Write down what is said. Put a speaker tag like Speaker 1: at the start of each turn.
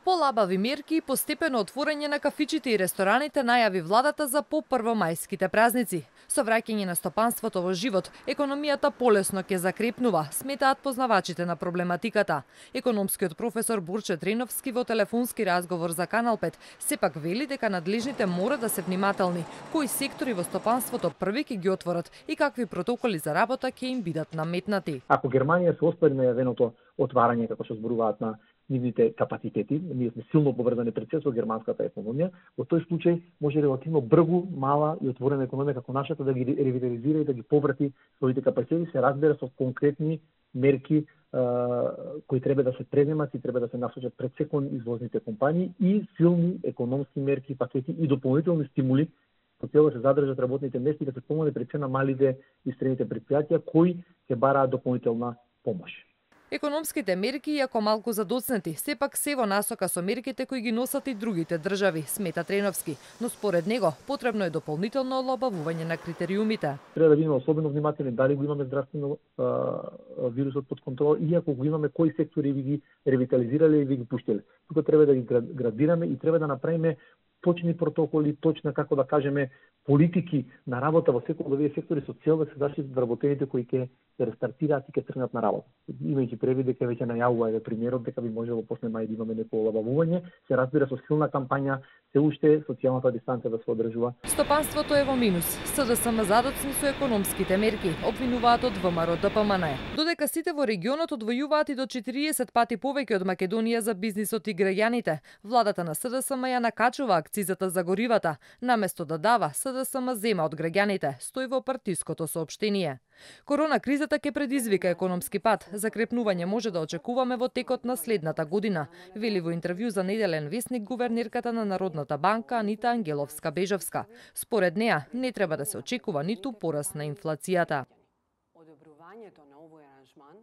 Speaker 1: Полабави мерки и постепено отворање на кафичите и рестораните најави владата за по првомајските празници. Со враќање на стопанството во живот, економијата полесно ќе закрепнува, сметаат познавачите на проблематиката. Економскиот професор Бурче Треновски во телефонски разговор за Канал 5 сепак вели дека надлежните мора да се внимателни, кои сектори во стопанството први ќе ги отворат и какви протоколи за работа ќе им бидат наметнати.
Speaker 2: Ако Германија се оспори најавеното отварање, како што зборуваат на нивните капацитети, ние сме силно поврзани пред се со германската економија, во тој случај може релативно брзо, мала и отворена економија како нашата да ги ревитализира и да ги поврати своите капацитети, се разбира со конкретни мерки кои треба да се преземат и треба да се насочат пред се кон извозните компании и силни економски мерки, пакети и дополнителни стимули со цел да се задржат работните места и да се помогне пред се на малите и средните претпријатија кои ќе бараат дополнителна помош.
Speaker 1: Економските мерки, иако малку задоцнети, сепак се во насока со мерките кои ги носат и другите држави, смета Треновски, но според него потребно е дополнително олабавување на критериумите.
Speaker 2: Треба да бидеме особено внимателни дали го имаме здравствено вирусот под контрола и ако го имаме кои сектори би ги ревитализирале и би ги пуштиле. Тука треба да ги градираме и треба да направиме точни протоколи, точна, како да кажеме, политики на работа во секој од овие сектори со цел да се заштитат вработените кои ќе се рестартираат и ќе тргнат на работа. Имајќи предвид дека веќе најавува премиерот дека би можело после мај да имаме некој олабавување, се разбира со силна кампања, се уште социјалната дистанција да се одржува.
Speaker 1: Стопанството е во минус. СДСМ задоцни со економските мерки, обвинуваат од ВМРО ДПМН. Додека сите во регионот одвојуваат и до 40 пати повеќе од Македонија за бизнисот и граѓаните, владата на СДСМ ја накачува акцизата за горивата, наместо да дава, СДСМ зема од граѓаните, стои во партиското соопштение. Корона кризата ќе предизвика економски пат, закрепнување може да очекуваме во текот на следната година, вели во интервју за Неделен весник гувернерката на Народната банка Анита Ангеловска-Бежевска. Според неа не треба да се очекува ниту пораст на инфлацијата.
Speaker 3: Одобрувањето на овој аранжман